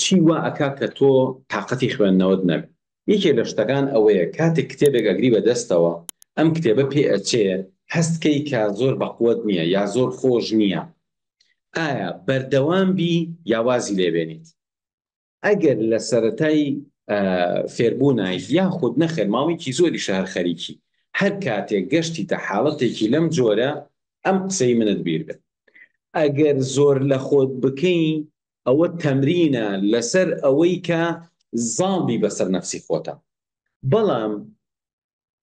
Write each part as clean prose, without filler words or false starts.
چی وا ئەکا کە تۆ تاقەتی خوێندنەوەت نەبێ؟ یەکێ لە شتەکان ئەوەیە کاتێک کتێبێک ئەگری بە دەستەوە ئەم کتێبە پێ ئەچێ هەست کەی کە زۆر بەقوەت نییە یا زۆر خۆش نییە ئایا بەردەوام بی یا وازی لێ بێنیت؟ ئەگەر لە سەرەتای فێربوونایت یاخود نەخێر ماوەیەکی زۆریشە هەر خەریکی هەر کاتێک گەشتیتە حاڵەتێکی لەم جۆرە ئەم قسەی منت بیر بێت ئەگەر زۆر لە خۆت بکەی ئەوە تەمرینە لەسەر ئەوەی کە زاڵ بی بەسەر نەفسی خۆتا بەڵام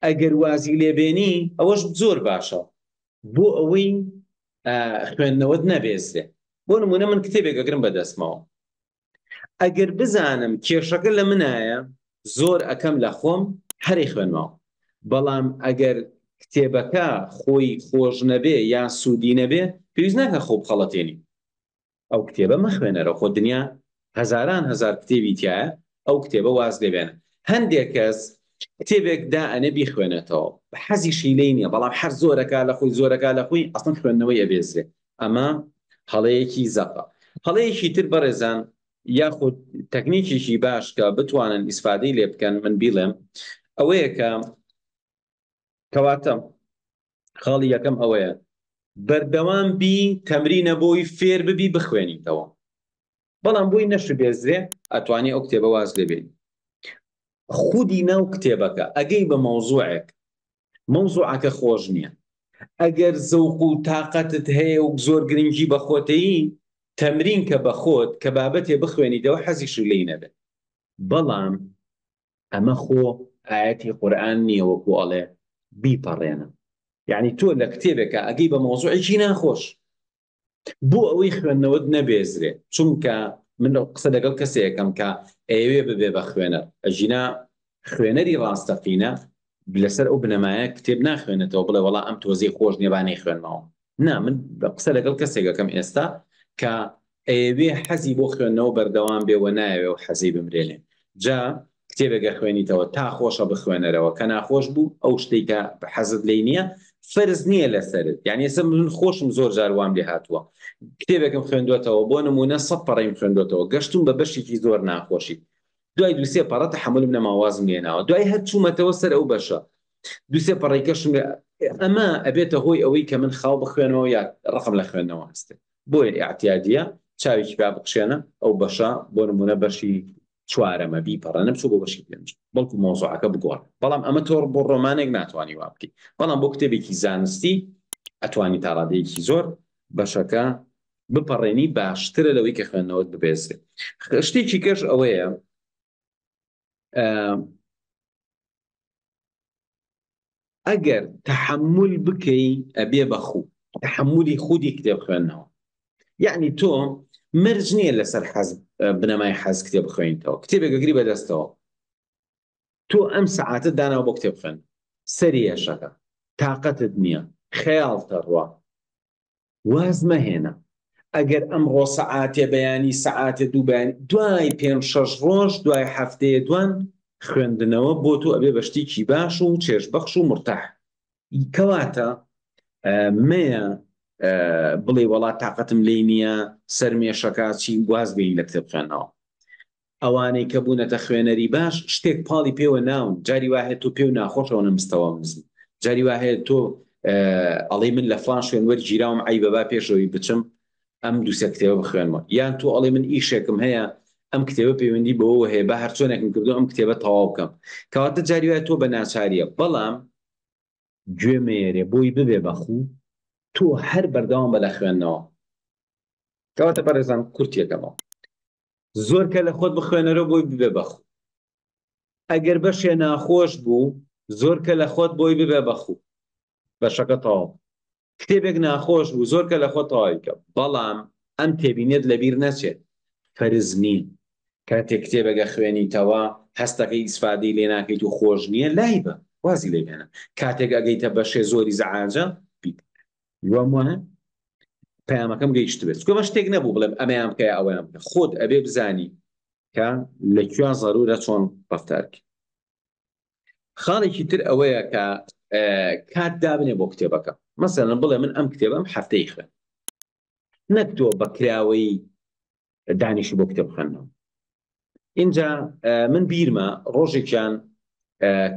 ئەگەر وازی لێبێنی ئەوەش زۆر باشە بۆ ئەوەی خوێندنەوەت نەبێزرێ بۆ نمونە من کتێبێک ئەگرم بەدەستمەوە ئەگەر بزانم کێشەکە لە منایە زۆر ئەکەم لە خۆم هەرێ خوێنمەوە بەڵام ئەگەر کتێبەکە خۆی خۆش نەبێ یا سوودی نەبێ پێویست ناکە خۆ بخەڵەتێنی ئەو کتێبە مەخوێنەرەوە خۆ دنیا هەزاران هەزار کتێبی تایە ئەو کتێبە واز لێبێنە هەندێک کەس کتێبێک دا ئەنێ بیخوێنێتەوە حەزیشی لێی نییە بەڵام هەر زۆرەکە لە خۆی زۆرەکە لە خۆی ئەسڵەن خوێندنەوەی ئەبێزرێ ئەمە هەڵەیەکی زەقە هەڵەیەکی تر بەڕێزان یاخود تەکنیکێکی باش کە بتوانن ئیسفادەی لێ بکەن من بیڵێم ئەوەیە کە کەواتە خاڵی یەکەم ئەوەیە بەردەوام بی تەمرینە بۆی فێر ببی بخوێنیتەوە بەڵام بۆی نەشبێزرێ ئەتوانی ئەو کتێبە واز لێ بێنی خودی ناو کتێبەکە ئەگەی بە مەوزوعێک مەوزوعەکە خۆش نییە ئەگەر زەوق و تاقەتت هەیە و زۆر گرنگی بە خۆتەیی تەمرین کە بە خۆت کە بابەتێ بخوێنیتەوە حەزیشی لێی نەبێت بەڵام ئەمە خۆ ئایەتی قورئان نییە وەکو ئەڵێ بیپەڕێنە یعنی تۆ لە کتێبێکە ئەگەی بە مەوزوعێکی ناخۆش بۆ ئەوەی خوێندنەوەت نەبێزرێ چونکە من قسە لەگەڵ کەسێکم کە ئەیەوێ ببێ بە خوێنەر ئەژینا خوێنەری ڕاستەقینە لەسەر ئەو بنەمایە کتێب ناخوێنێتەوە بڵێ وەڵا ئەم تۆزەی خۆش نییە با نەیخوێنمەوە نا من قسە لەگەڵ کەسێک ئەکەم ئێستا کە ئەیەوێ حەزی بۆ خوێندنەوە بەردەوام بێ و نایەوێ و حەزی بمرێنێ جا کتێبێک ئەخوێنیتەوە تا خۆشە بخوێنەرەوە کە ناخۆش بوو ئەو شتەی کە حەزت لێی نییە فەرز نییە لەسەرت یعنی ئێستا من خۆشم زۆر جار وام لێ هاتووە کتێبێکم خوێندوەتەوە بۆ نمونە سەد پەڕەیم خوێندوەتەوە گەشتوم بە بەشێکی زۆر ناخۆشی دوای دوسێ پەڕە تەحەمولم نەما وازم لێناوە دوای هەر چوومەتەوە سەر ئەو بەشە دوسێ پەڕەی کەشم ئەمە ئەبێتە هۆی ئەوەی کە من خاو بخوێنەوە یا ڕقم لە خوێندنەوە هەستێ بۆیە ئیعتیادیە چاوێکی پیا بخشێنە ئەو بەشە بۆ نمونە بەشی چوارەمە بیپەڕێنە بچۆ بۆ بەشی پێنج بەڵکو مەوزوعەکە بگۆڕ بەڵام ئەمە تۆ بۆ ڕۆمانێک ناتوانانی وا بکەیت بەڵام بۆ کتێبێکی زانستی ئەتوانی تا ڕادەیەکی زۆر بەشەکە بپەڕێنی باشترە لەوەی کە خوێندنەوەت ببێزرێ شتێکی کەش ئەوەیە ئەگەر تەحەمول بکەی ئەبێ بە خوو تەحەمولی خودی کتێب خوێندنەوە یعنی تۆ مەرج نییە لەسەر حەز بنەمای حەز کتێب بخوێنیتەوە کتێبێک ئەگری بەدەستەوە تۆ ئەم سەعاتە داناوە بۆ کتێب خوێن سەری ئێشەکە تاقەتت نییە خەیاڵتە ڕوا واز مەهێنە ئەگەر ئەمڕۆ سەعاتێ بەیانی سەعاتێ دوو بەیانی دوای پێنج شەش ڕۆژ دوای هەفتەیە دوان خوێندنەوە بۆ تۆ ئەبێ بە شتێکی باش و چێژبەخش و مرتاح کەواتە مەیە بڵێ وەڵا تاقەتم لێی نییە سەرمێشەکە چی واز بێنی لە کتێب خوێندنەوە ئەوانەی کە بوونەتە خوێنەری باش شتێک پاڵی پێوە ناون جاری وا هەیە تۆ پێو ناخۆشەوە نەمستەوە نزم جاری وا هەیە تۆ ئەڵێی من لە فڵان شوێن وەرگیراوم عەیبە با پێشەوەی بچم ئەم دووسێ کتێبە بخوێنمەوە یان تۆ ئەڵێ من ئیشێکم هەیە ئەم کتێبە پەیوەندی بەوەوە هەیە با هەرچۆنێکم کردو ئەم کتێبە تەواو بکەم کەواتە جاری وایە تۆ بە ناچاریە بەڵام گوێ مەیەرێ بۆی ببێ بە خوو تۆ هەر بەردەوام بە لە خوێندنەوە کەواتە بەڕێزان کورتیەکەمەوە زۆر کە لە خۆت بخوێنەرەوە بۆی ببێ بە خوو ئەگەر بەشێ ناخۆش بوو زۆر کە لە خۆت بۆی ببێ بە خوو بەشەکە تەواو کتێبێک ناخۆش بوو زۆر کە لە خۆت تەواوی کە بەڵام ئەم تێبینیت لەبیر نەچێت فەرز نییە کاتێک کتێبەکە خوێنیتەوە هەستەکەی ئیسفادەی لێ ناکەیت و خۆش نییە لای بە وازی لێ بێنە کاتێک ئەگەیتە بەشێ زۆری زەعاجە بیپەڕێنە هیوام وایە پەیامەکەم گەیشتبێت چونکە ئەمە شتێک نەبوو بڵێم ئەمەیان بکە یا ئەوەیان بکە خۆت ئەبێ بزانی کە لە کوێ زەرورە چۆن ڕەفتار بکەی خاڵێکی تر ئەوەیە کە کات دابنێ بۆ کتێبەکە مەسەلەن بڵێ من ئەم کتێبەم هەفتەی خوێن نەک تۆ بە کراوەیی دانیشی بۆ کتێب خوێندنەوە. ئینجا من بیرمە ڕۆژێکیان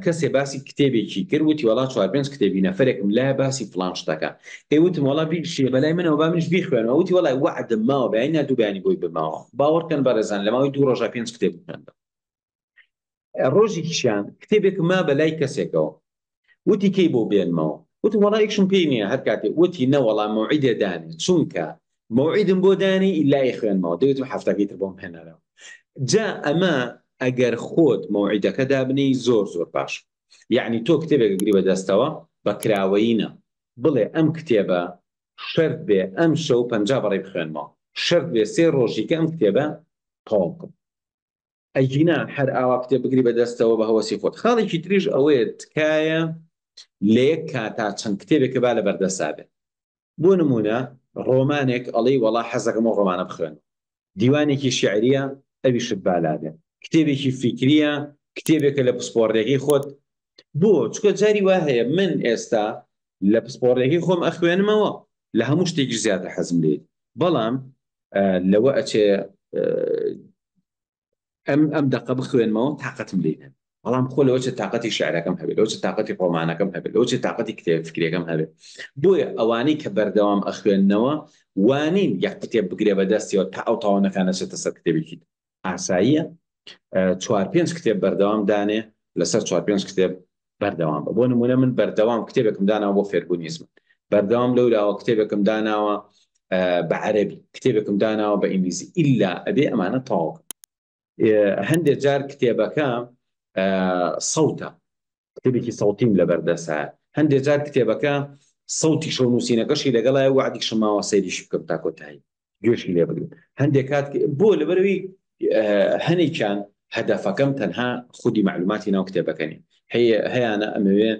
کەسێ باسی کتێبێکی کرد وتی وەڵا چوار پێنج کتێبی نەفرێکم لایە باسی فڵان شتەکە ئێ وتم وەڵا بیشێ بەلای منەوە با منیش بیخوێنەوە وتی وەڵای وەعدم ماوە بەیانی نا دوو بەیانی بۆی بماوە باوەڕکەن بەڕێزان لە ماوەی دوو ڕۆژا پێنج کتێب خوێندەوە ڕۆژێکیشیان کتێبێکم ما بەلای کەسێکەوە وتی کەی بۆ بێنمەوە وتم وەڵا ئیشم پێی نییە هەر کاتێ وتی نەوەڵا مەوعیدێ دانێ چونکە مەوعیدم بۆ دانی ئیلا ئەیخوێنمەوە دەی وتم هەفتەکەی تر بۆم هێنەرەوە جا ئەمە ئەگەر خۆت مەوعیدەکە دابنێی زۆر زۆر باش یەعنی تۆ کتێبێک ئەگری بە دەستەوە بە کراوەیی نا بڵێ ئەم کتێبە شەرت بێ ئەم شەو 50 بەڕێ بخوێنمەوە شەرت بێ سێ ڕۆژی کە ئەم کتێبە تەواو بکەم ئەگینا هەر ئاوا کتێب بگری بە دەستەوە بە هەوەسی خۆت خاڵێکی تریش ئەوەیە تکایە لە یەک کاتا چەند کتێبێکە با لە بەردەسا بێت بۆ نموونە ڕۆمانێک ئەڵێی وەڵا حەزەکەم ئەو ڕۆمانە بخوێنم، دیوانێکی شیعرییە ئەویشت با لابێ، کتێبێکی فیکرییە، کتێبێکە لە پسپۆڕییەکەی خۆت، بۆ؟ چونکە جاری وا هەیە من ئێستا لە پسپۆڕییەکەی خۆم ئەخوێنمەوە، لە هەموو شتێکیش زیاتر حەزم لێیەتی، بەڵام لەوە ئەچێ ئەم ئەم دەقە بخوێنمەوە تاقەتم لێی نەبێ بەڵام خۆ لەوە چێ تاقەتی شعرەکەم هەبێ لەوە چێ تاقەتی ڕۆمانەکەم هەبێ لەوە چێ تاقەتی کتێب فکرەکەم هەبێ بۆیە ئەوانەی کە بەردەوام ئەخوێندنەوە وانین یەک کتێب بگرێ بە دەستیەوە تا ئەو تاوانەکان نەچێتە سەر کتێبێکی ئاساییە چوار پێنج کتێب بەردەوام دانێ لەسەر چوار پێنج کتێب بەردەوام بە بۆ نمونە من بەردەوام کتێبێکم داناوە بۆ فێربوونی زمان بەردەوام لەولاوە کتێبێکم داناوە بە عەربی کتێبێکم داناوە بە ئینگلیزی ئیلا ئەبێ ئەمانە تەواو هەندێک جار کتێبەکە سەوتە کتێبێکی سەوتیم لەبەردەسە هەندێک جار کتێبەکە سەوتی شەو نووسینەکەشی لەگەڵای وعدیشم ماوە سەیریش بکەم تا کۆتایی گوێشی لێ بگرم هەندێک کات بۆ لەبەرەوەی هەنێکیان هەدەفەکەم تەنها خودی معلوماتی ناو کتێبەکە نیە هەیە هەیانە ئەمەوێ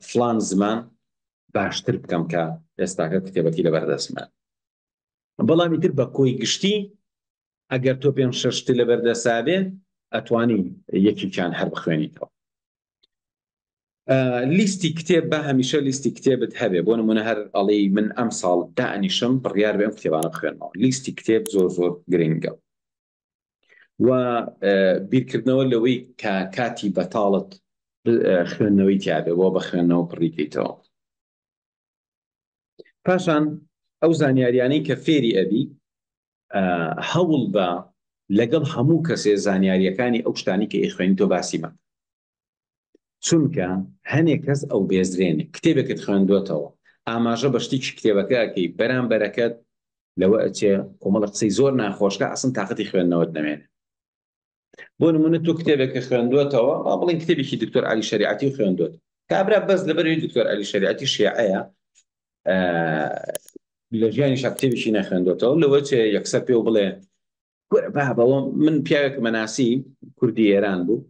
فلان زمان باشتر بکەم کە ئێستاکە کتێبەکەی لەبەردەستمە بەڵام ئیتر بە کۆی گشتی ئەگەر تۆ پێم شەشت لەبەردەسا بێ ئەتوانی یەکێکیان هەر بخوێنیتەوە لیستی کتێب با هەمیشە لیستی کتێبت هەبێ بۆ نمونە هەر ئەڵێی من ئەم ساڵ دائەنیشم بڕیار بێ ئەم کتێبانە بخوێنمەوە لیستی کتێب زۆر زۆر گرنگە و بیرکردنەوە لەوەی کە کاتی بەتاڵت خوێندنەوەی تیاابێ بۆ بە خوێندنەوە پڕیکەیتەوە پاشان ئەو زانیاریانەی کە فێری ئەبی هەوڵ بە لەگەڵ هەموو کەسێ زانیاریەکانی ئەو شتانی کە ئیخوێنی تۆ باسی مەکە چونکە هەنێ کەس ئەو بێزرێنێ کتێبێکت خوێندوەتەوە ئاماژە بە شتێکی کتێبەکە ئەکەی بەرامبەرەکەت لەوە ئەچێ کۆمەڵە قسەی زۆر ناخۆشکە ئەسن تاقەتی خوێندنەوەت نەمێنێ بۆ نمونە تۆ کتێبێکە خوێندوەتەوە با بڵێن کتێبێکی دکتۆر علی شریعەتی خوێندوت کابرا بەس لەبەرەوەی دکتۆر علی شریعەتی شیعەیە لە ژیانی کتێبێکی نەخوێندوەتەوە لەوە چێ یەکسەر پێ و بڵێ کورە بابەوە من پیاوێک مەناسی کوردی ئێران بوو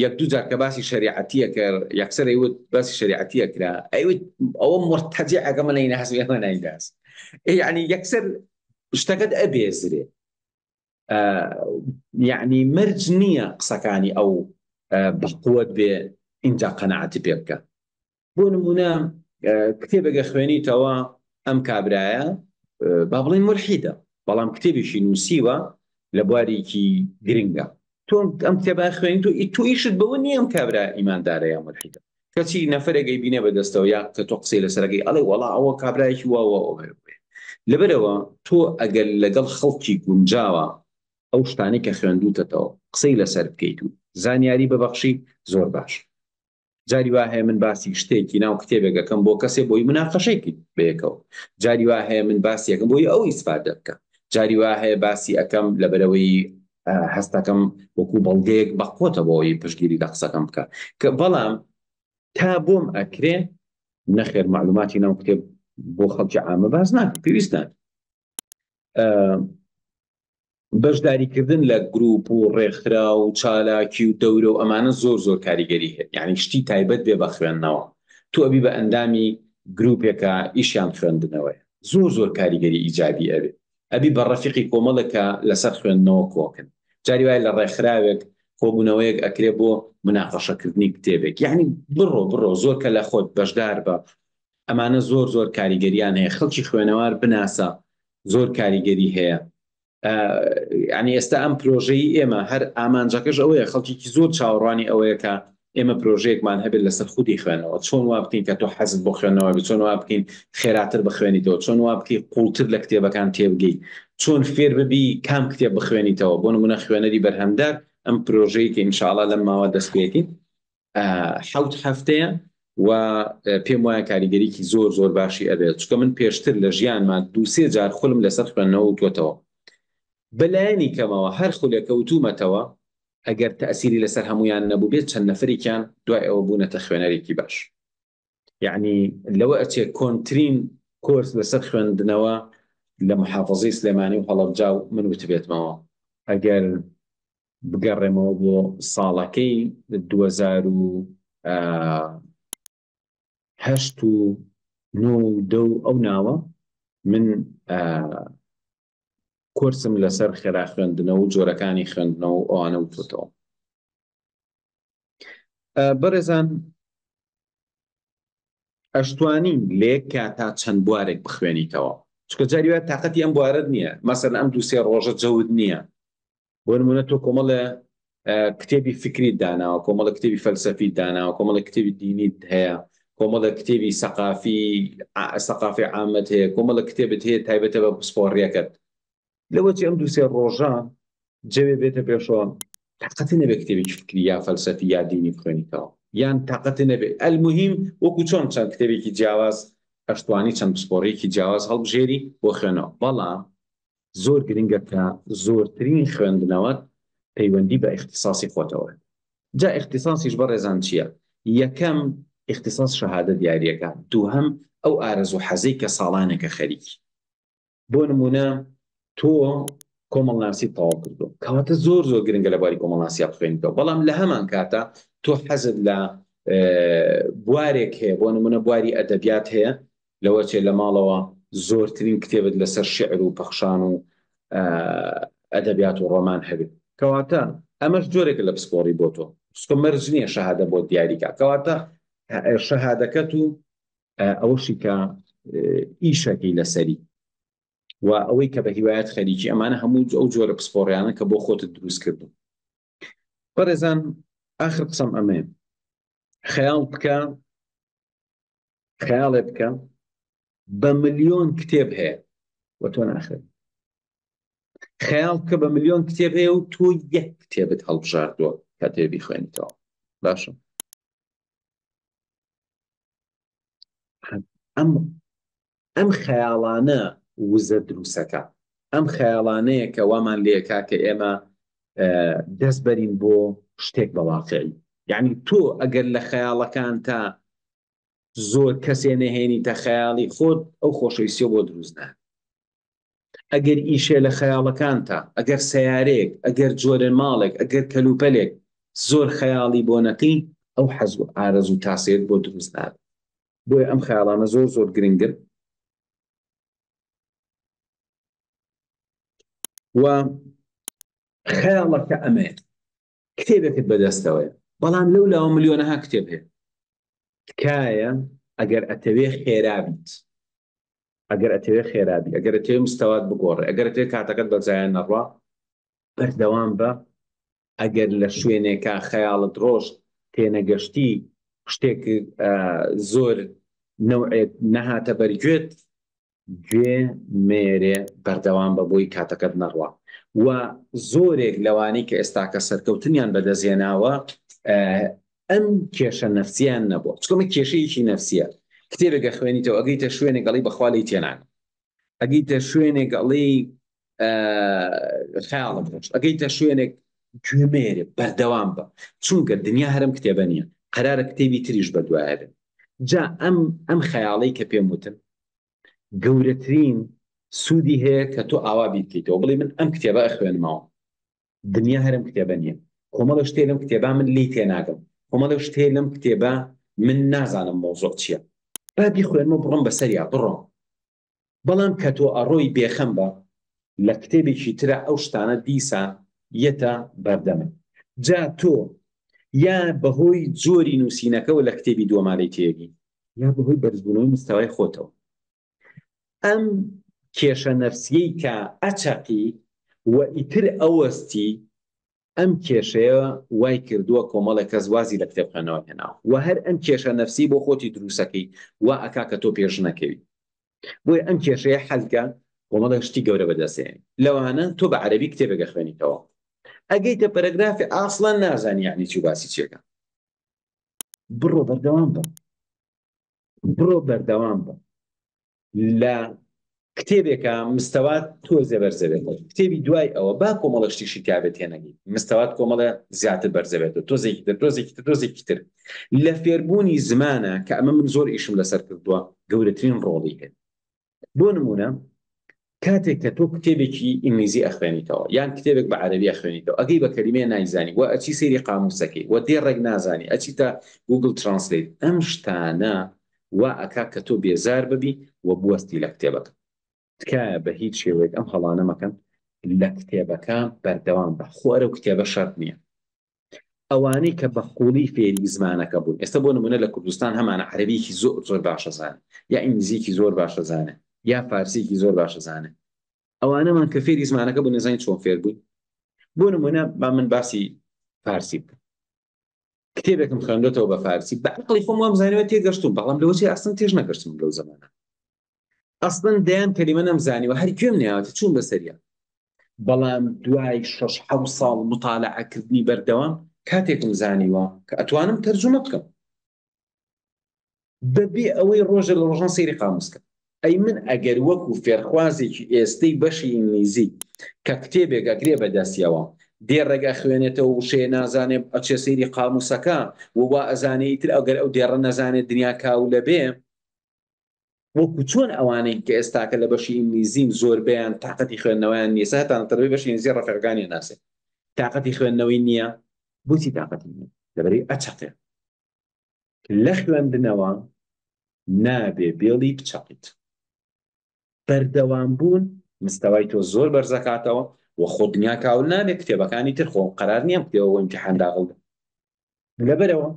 یەک دوو جار کە باسی شەریعەتیە کرد یەکسەر ئەیوت باسی شەریعەتیە کرا ئەیوت ئەوە مرتەجعەکە من نەیناس ئێمە نایناس یعنی یەکسەر شتەکەت ئەبێزرێ یعنی مەرج نییە قسەکانی ئەو بەقوت بێ اینجا قەناعەتی پێ بکە بۆ نمونە کتێبێک ئەخوێنیتەوە ئەم کابرایە با بڵێن ملحیدە بەڵام کتێبێکی نووسیوە لە بوارێکی گرنگە تۆ ئەم کتێبە خوێنی تۆ تۆ ئیشت بەوە نییە ئەم کابرا ئیماندارە یا ملحیدە کەچی نەفرێک ئەیبینێ بەدەستەوە یا کە تۆ قسەی لەسەرەکەی ئەڵێ وەڵا ئەوە کابرایەکی وا وا لەبەرەوە تۆ ئەگەر لەگەڵ خەڵکی گونجاوە ئەو شتانەی کە خوێندوتەتەوە قسەی لەسەر بکەیت و زانیاری ببەخشی زۆر باش جاری وا هەیە من باسی شتێکی ناو کتێبێک ئەکەم بۆ کەسێ بۆی مناقەشەی کەین بەیەکەوە جاری وا هەیە من باسی ئەکەم بۆی ئەو ئیسفادە بکە جاری وا هەیە باسی ئەکەم لەبەرەوەی هەستەکەم وەکو بەڵگەیەک بەقوتە بۆ ئەوەی پشتگیری لە قسەکەم بکە کە بەڵام تا بۆم ئەکرێ نەخێر معلوماتی ناو کتێب بۆ خەڵکی عامە باس ناکەم پێویست ناکە بەشداریکردن لە گروپ و ڕێکخرا و چالاکی و دەورە و ئەمانە زۆر زۆر کاریگەری هەیە یعنی شتی تایبەت بێ بە خوێندنەوە تۆ ئەبی بە ئەندامی گروپێکە ئیشیان خوێندنەوەیە زۆر زۆر کاریگەری ئیجابی ئەبێ ئەبی بە ڕەفیقی کۆمەڵێکە لەسەر خوێندنەوە کۆکن جاری وایە لە ڕێکخراوێک کۆبوونەوەیەک ئەکرێ بۆ مناقەشەکردنی کتێبێک یعنی بڕۆ بڕۆ زۆر کە لە خۆت بەشدار بە ئەمانە زۆر زۆر کاریگەریان هەیە خەڵکی خوێنەوار بناسە زۆر کاریگەری هەیە. ینی ئێستا ئەم پرۆژەی ئێمە هەر ئامانجەکەش ئەوەیە خەڵکیکی زۆر چاوەڕوانی ئەوەیە کە ئێمە پرۆژەیەکمان هەبێت لەسەر خودی خوێندنەوە چۆن وا بکەین کە تۆ حەزت بۆ خوێندنەوە بێت چۆن وا بکەین خێراتر بخوێنیتەوە چۆن وا بکەی قوڵتر لە کتێبەکان تێبگەی چۆن فێر ببی کام کتێب بخوێنیتەوە بۆ نمونە خوێنەری بەرهەمدار ئەم پرۆژەی کە ئینشاءڵا لەم ماوە دەست پێکەین حەوت هەفتەیە و پێم وایە کاریگەریکی زۆر زۆر باشی ئەبێت چونکە من پێشتر لە ژیانما دووسێ جار خولم لەسەر خوێندنەوە وتوەتەوە بەلایەنی کەمەوە هەر خولێکە وتومەتەوە ئەگەر تەئسیری لەسەر هەموویان نەبووبێت چەند نەفەرێکیان دوای ئەوە بوونەتە خوێنەرێکی باش یعنی لەوە ئەچێ کۆنترین کۆرس لەسەر خوێندنەوە لە محافظەی سلێمانی و هەڵەبجا و من وتبێتمەوە ئەگەر بگەڕێمەوە بۆ ساڵەکەی 2008 و نۆ و دە و ئەو ناوە من کۆرسم لەسەر خێرا خوێندنەوە و جۆرەکانی خوێندنەوە و ئەوانە وتوتەوە. بەڕێزان ئەشتوانی لە یەک کاتا چەند بوارێک بخوێنیتەوە چونکە جاری وایە تاقەتی ئەم بوارەت نییە مەسەن ئەم دوو سێ ڕۆژە جەوت نییە بۆ نمونە تۆ کۆمەڵێ کتێبی فکری داناوە کۆمەڵە کتێبی فەلسەفی داناوە کۆمەڵە کتێبی دینیت هەیە کۆمەڵە کتێبی سەقافی سەقافی عامەت هەیە کۆمەڵە کتێبت هەیە تایبەتە بە پسپۆڕیەکەت لەوەچی ئەم دووسێ ڕۆژە جەوێ بێتە پێشەوە تاقەتی نەبێ کتێبێکی فکری یا فەلسەفی یا دینی بخوێنیتەوە یان تاقەتی نەبێ ئەلموهیم وەکو چۆن چەند کتێبێکی جیاواز ئەشتوانی چەند پسپۆڕیەکی جیاواز هەڵبژێری بۆ خوێنەوە بەڵام زۆر گرنگە کە زۆرترین خوێندنەوەت پەیوەندی بە ئیختیساسی خۆتەوە هەبێت. جا ئیختیساسیش بەڕێزان چییە؟ یەکەم ئیختیساس شەهادە دیارییەکە، دووهەم ئەو ئارەزوو حەزەی کە ساڵانێکە خەریکی. بۆ نموونە تۆ کۆمەڵناسیت تەواو کردووە، کەواتە زۆر زۆر گرنگە لە بواری کۆمەڵناسیا بخوێنیتەوە، بەڵام لە هەمان کاتا تۆ حەزت لە بوارێک هەیە، بۆ نموونە بواری ئەدەبیات هەیە، لەوەچێ لە ماڵەوە زۆرترین کتێبت لەسەر شیعر و پەخشان و ئەدەبیات و ڕۆمان هەبێت. کەواتە ئەمەش جۆرێکە لە پسپۆڕی بۆ تۆ. چونکە مەرج نییە شەهادە بۆت دیاری کا. کەواتە شەهادەکەت و ئەوەشی کە ئیشەکەی لەسەری و ئەوەی کە بە هیوایەت خەریکی ئەمانە هەموو ئەو جۆرە پسپۆڕیانە کە بۆ خۆتت دروست کردو. بەڕێزان ئاخر قسەم ئەمەیە. خەیاڵ بکە خەیاڵێ بکە بە ملیۆن کتێب هەیە و تۆ ناخوێنی خەیاڵ بکە بە ملیۆن کتێب هەیە و تۆ یەک کتێبت هەڵبژاردووە کە تێ بیخوێنیتەوە باشە ئەم ئەم خەیاڵانە وزە دروسەکە ئەم خەیاڵانەیە کە وامان لێکا کە ئێمە دەست بەرین بۆ شتێک بە واقعی یعنی تۆ ئەگەر لە خەیاڵەکان تا زۆر کەسێ نەهێنیتە خەیاڵی خۆت ئەو خۆشەویستیە بۆ دروست نابێت ئەگەر ئیشێ لە خەیاڵەکانتا ئەگەر سەیارەیەک ئەگەر جۆرە ماڵێک ئەگەر کەلوپەلێک زۆر خەیاڵی بۆ نەکەی ئەو حەز و ئارەزوو تاسەیەت بۆ دروست نابێت بۆیە ئەم خەیاڵانە زۆر زۆر گرنگن و خەیاڵەکە ئەمەیە کتێبێکت بەدەستەوەیە بەڵام لەو لاوە ملیۆنەها کتێب هەیە تکایە ئەگەر ئەتەوێ خێرا بیت ئەگەر ئەتەوێ خێرا بی ئەگەر ئەتەوێ مستەوات بگۆڕێ ئەگەر ئەتەوێ کاتەکەت بە زایە نەڕوا بەردەوام بە ئەگەر لە شوێنێکا خەیاڵت ڕۆشت تێنەگەشتی شتێک زۆر نەوعێک نەهاتە بەرگوێت گوێ مێرێ بەردەوام بە بۆی کاتەکەت نەڕوا و زۆرێک لەوانەی کە ئێستاکە سەرکەوتنیان بەدەستهێناوە ئەم کێشە نەفسیان نەبووە چونکە ئەمە کێشەیەکی نەفسیە کتێبێک ئەخوێنیتەوە ئەگەیتە شوێنێک ئەڵێی بەخوا لێی تێناگەم ئەگەیتە شوێنێک ئەڵێی خەیاڵم ڕۆشت ئەگەیتە شوێنێک گوێ مێرێ بەردەوام بە چونکە دنیا هەرم کتێبە نییە قەرارە کتێبی تریش بەدوایە بێت جا ئەم ئەم خەیاڵەی کە پێم وتن گەورەترین سوودی هەیە کە تۆ ئاوا بیر بکەیتەوە بڵێ من ئەم کتێبە ئەخوێنمەوە دنیا هەرم کتێبە نییە کۆمەڵە شتێ لەم کتێبا من لێی تێناگەم کۆمەڵە شتێ لەم کتێبە من نازانم مەوزوع چییە با بیخوێنمەوە بڕۆم بەسەریا بڕۆم بەڵام کە تۆ ئەڕۆی بێخەم بە لە کتێبێکی ترا ئەو شتانە دیسان یەتە بەردەمت جا تۆ یا بەهۆی جۆری نووسینەکەوە لە کتێبی دووەما لێی تێگەی یا بەهۆی بەرزبوونەوەی مستەوای خۆتەوە ئەم کێشە نەفسیەی کە ئەچەقی. و ئیتر ئەوەستی ئەم کێشەیە وای کردووە کۆمەڵێک کەس وازی لە کتێب خوێندنەوە هێناوە و هەر ئەم کێشە نەفسی بۆ خۆتی دروستەکەی وا ئەکا کە تۆ پێش نەکەوی. بۆیە ئەم کێشەیە حەلکە کۆمەڵێک شتی گەورە بەدەستێنی لەوانە تۆ بە عەرەبی کتێبێک ئەخوێنیتەوە ئەگەیتە پەرەگرافی ئاسڵەن نازانی یعنی چی و باسی چیەکە بڕۆ بەردەوام بە بڕۆ بەردەوام بە لە کتێبێکە مستەوات تۆزێ بەرزەبێتەوە کتێبی دوای ئەوە با کۆمەڵە شتیشی تیابێت تێنەگەی مستەوات کۆمەڵە زیاتر بەرزەبێتەوە تۆزێکی تر تۆزێکی تر تۆزێکی تر لە فێربوونی زمانە کە ئەمە من زۆر ئیشم لەسەر کردووە گەورەترین ڕۆڵی هەیە بۆ نمونە کاتێک کە تۆ کتێبێکی ئینگلیزی ئەخوێنیتەوە یان کتێبێک بە عەرەبی ئەخوێنیتەوە ئەگەی بە کەلیمەیە نایزانی و ئەچی سەیری قاموسەکەی و دێڕێک نازانی ئەچیتە Google Translate ئەم شتانە وا ئەکا کە تۆ بێزار ببی و بوەستی لە کتێبەکە. تکایە بە هیچ شێوەیەک ئەم هەڵانە مەکەن لە کتێبەکە بەردەوام بە خۆ ئەرەو کتێبە شەرت نییە ئەوانەی کە بە قوڵی فێری زمانەکە بوون ئێستا بۆ نمونە لە کوردستان هەمانە عەرەبیکی زۆر زۆر باشە زانێ یا ئینگلیزیکی زۆر باشە زانێ یا فارسیکی زۆر باشە زانێ ئەوانەمان کە فێری زمانەکە بوون نەزانین چۆن فێر بووین بۆ نمونە با من باسی فارسی بکەم کتێبێکم خوێندۆتەوە بە فارسی بە عەقڵی خۆم وام زانیوە تێگەشتوم بەڵام لەوە چی ئەسڵەن تێش نەگەشتم لەو زەمانە ئەسڵەن دەیان کەلیمە نەمزانیوە هەر گوێم نەیاوەتە چوون بەسەریا بەڵام دوای شەش حەوت ساڵ متالعەکردنی بەردەوام کاتێکم زانیوە کە ئەتوانم تەرجومە بکەم بەبێ ئەوەی ڕۆژێ لە ڕۆژان سەیری قاموس کەم. ئەی من ئەگەر وەکو فێرخوازێکی ئێستەی بەشی ئینگلیزی کە کتێبێک ئەگرێ بە دەستیەوە دێڕێک ئەخوێنێتەوە وشەیە نازانێ ئەچێ سەیری قاموسەکە و وا ئەزانێ ئیتر ئەگەر ئەو دێڕە نەزانێ دنیا کاولە بێ وەکو چۆن ئەوانەی کە ئێستاکە لە بەشی ئینگلیزین زۆربەیان تاقەتی خوێندنەوەیان نییە سا هەتا تەلەبەی بەشی ئینگلیزی ڕەفیقەکانی ئەناسێ تاقەتی خوێندنەوەی نییە بۆچی تاقەتی نییە لەبەرئەوەی ئەچەقێ لە خوێندنەوە نابێ بێڵی بچەقیت. بەردەوام بوون مستەوای تۆ زۆر بەرزەکاتەوە و خۆ دنیا کاول نابێ کتێبەکانی تر خۆ قەرار نییە ئەم کتێبە بۆ ئیمتیحان داغڵ بێ. لەبەرئەوە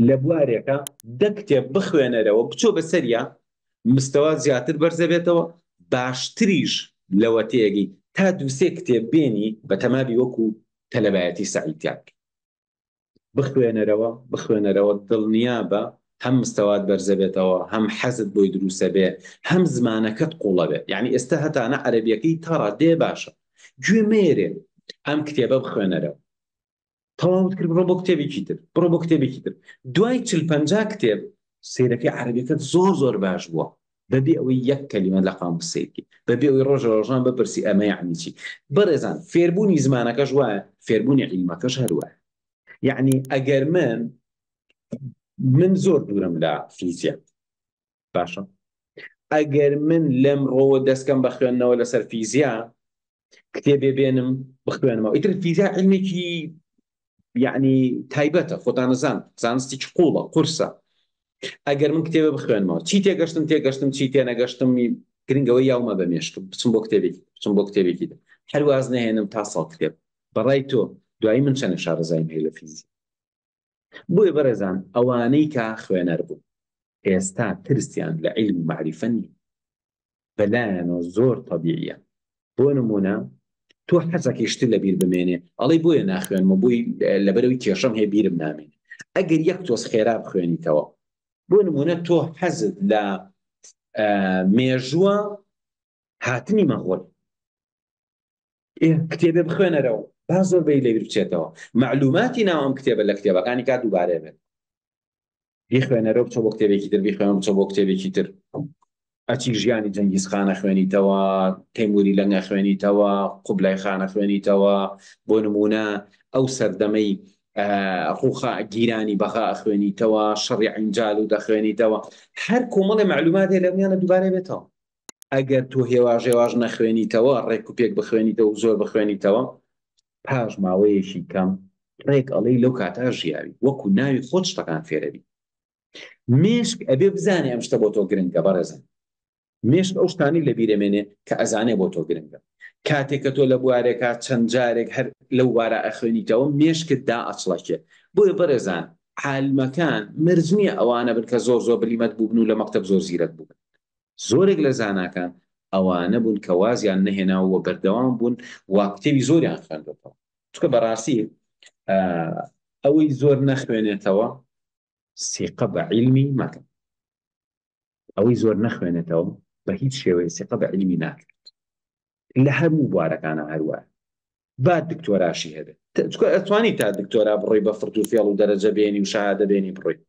لە بوارێکا دە کتێب بخوێنەرەوە بچۆ بەسەریا مستەوات زیاتر بەرزەبێتەوە باشتریش لەوە تێگەی تا دووسێ کتێب بێنی بەتەمابی وەکو تەلەبایەتی سەعی تیا بکەی. بخوێنەرەوە بخوێنەرەوە دڵنیابە هەم مستەوات بەرزەبێتەوە هەم حەزت بۆی دروسەبێ هەم زمانەکەت قوڵەبێ یعنی ئێستا هەتانە عەرەبیەکەی تا ڕادەیە باشە گوێ مەیەرێ ئەم کتێبە بخوێنەرەوە تەواوت کرد بڕۆ بۆ کتێبێکی تر بڕۆ بۆ کتێبێکی تر دوای چل پەنجا کتێب سەیرەکەی عەرەبیەکەت زۆر زۆر باش بووە بەبێ ئەوەی یەک کەلیمە لە قاموس سەیر بکەی بەبێ ئەوەی ڕۆژە ڕۆژان بپرسی ئەمە یەعنی چی بەڕێزان فێربوونی زمانەکەش وایە فێربوونی عیلمەکەش هەر وایە یەعنی ئەگەر من من زۆر دوورم لە فیزیا باشە ئەگەر من لەم ڕۆوە دەستکەم بە خوێندنەوە لەسەر فیزیا کتێبێ بێنم بخوێنمەوە ئیتر فیزیا علمێکی یعنی تایبەتە خۆتانەزان زانستێکی قوڵە قورسە ئەگەر من کتێبە بخوێنمەوە چی تێگەشتم تێگەشتم چی تێنەگەشتم گرنگەوە یاومە بە مێشکم بچم بۆ کتێبێکی بچم بۆ کتێبێکی تر هەرواز نەهێنم تا ساڵ کتێب بەڕای تۆ دوایی من چەنە شارەزایم هەیە لە فیزیا بۆیە بەڕێزان ئەوانەی کە خوێنەر بوون ئێستا ترسیان لە عیلم و مەعریفە نییە بەلایانەوە زۆر تەبیعیە بۆ نمونە تۆ حەزەکەی شتر لە بیر بمێنێ ئەڵێی بۆیە ناخوێنمەوە بۆی لەبەرەوەی کێشەم هەیە بیرم نامێنێ ئەگەر یەک تۆز خێرا بخوێنیتەوە بۆ نمونە تۆ حەزت لە مێژووە هاتنی مەغۆل کتێبێ بخوێنەرەوە با زۆر بەی لەبیر بچێتەوە معلوماتی ناو ئەم کتێبە لە کتێبەکانی کا دووبارە بێت بیخوێنەرەوە بچۆ بۆ کتێبێکی تر بیخوێنەوە بچۆ بۆ کتێبێکی تر ئەچی ژیانی جەنگیز خانە خوێنیتەوە تەیموری لەنگە خوێنیتەوە قوبلای خانە خوێنیتەوە بۆ نمونە ئەو سەردەمەی ڕوخا گیرانی بەغا ئەخوێنیتەوە شەڕی عینجال و دەخوێنیتەوە هەر کۆمەڵی معلومات هەیە لەمیانە دووبارە بێتەوە ئەگەر تۆ هێواش هێواش نەخوێنیتەوە ڕێک و پێک بخوێنیتەوە و زۆر بخوێنیتەوە پاش ماوەیەکی کەم ڕێک ئەڵێی لەو کاتە ژیاوی وەکو ناوی خۆت شتەکان فێرەبی مێشک ئەبێ بزانێ ئەم شتە بۆ تۆ گرنگە بەڕێزم مێشک ئەو شتانی لە بیرەمێنێ کە ئەزانێ بۆ تۆ گرنگە کاتێک کە تۆ لە بوارێکا چەند جارێک هەر لەو بارە ئەخوێنیتەوە مێشکت دا ئەچڵەکێ بۆیە بەڕێزان عالمەکان مەرج نییە ئەوانە بن کە زۆر زۆر بلیمەت بووبن و لە مەکتەب زۆر زیرەک بووبن زۆرێک لە زاناکان. ئەوانە بوون کە وازیان نەهێنا و بەردەوام بوون و کتێبی زۆریان خوێندوەتەوە. چونکە بەڕاستی ئەوەی زۆر نەخوێنێتەوە سیقە بە عیلمی مەکە. ئەوەی زۆر نەخوێنێتەوە بە هیچ شێوەیە سیقە بە عیلمی ناکرێت. لە هەموو بوارەکانە هەروایە. با دکتۆراشی هەبێت. چونکە ئەتوانی تا دکتۆرا بڕۆی بە فرت و فێڵ و دەرەجە بێنی و شەهادە بێنی بڕۆی.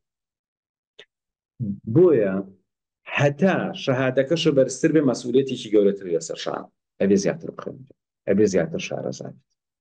بۆیە هەتا شەهادەکەشە بەرزتر بێ مەسئولیەتێکی گەورەتر لەسەر شان ئەبێ زیاتر بخوێنیت ئەبێ زیاتر شارەزا بیت.